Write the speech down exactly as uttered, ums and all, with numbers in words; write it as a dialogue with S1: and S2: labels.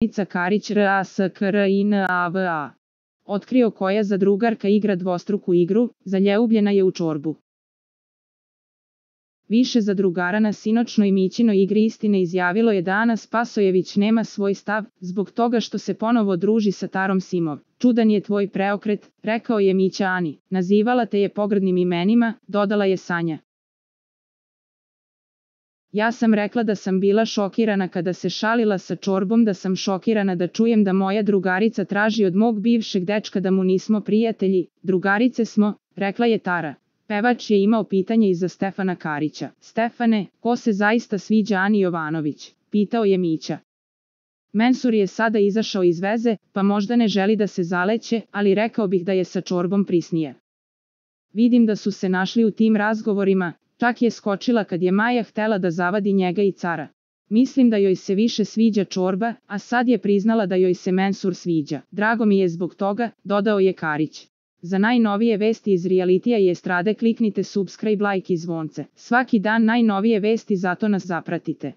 S1: Danica Karić R A S K R I N A V A. Otkrio koja zadrugarka igra dvostruku igru, zaljubljena je u čorbu. Više zadrugara na sinoćnoj Mićinoj igri istine izjavilo je da Ana Spasojević nema svoj stav, zbog toga što se ponovo druži sa Tarom Simov. Čudan je tvoj preokret, rekao je Mića Ani. Nazivala te je pogrdnim imenima, dodala je Sanja. Ja sam rekla da sam bila šokirana kada se šalila sa čorbom, da sam šokirana da čujem da moja drugarica traži od mog bivšeg dečka da mu nismo prijatelji, drugarice smo, rekla je Tara. Pevač je imao pitanje i za Stefana Karića. Stefane, ko se zaista sviđa Ani Jovanović? Pitao je Mića. Mensur je sada izašao iz veze, pa možda ne želi da se zaleće, ali rekao bih da je sa čorbom prisnije. Vidim da su se našli u tim razgovorima, čak je skočila kad je Maja htela da zavadi njega i Cara. Mislim da joj se više sviđa čorba, a sad je priznala da joj se Mensur sviđa. Drago mi je zbog toga, dodao je Karić. Za najnovije vesti iz realitija i estrade kliknite subscribe, like i zvonce. Svaki dan najnovije vesti, zato nas zapratite.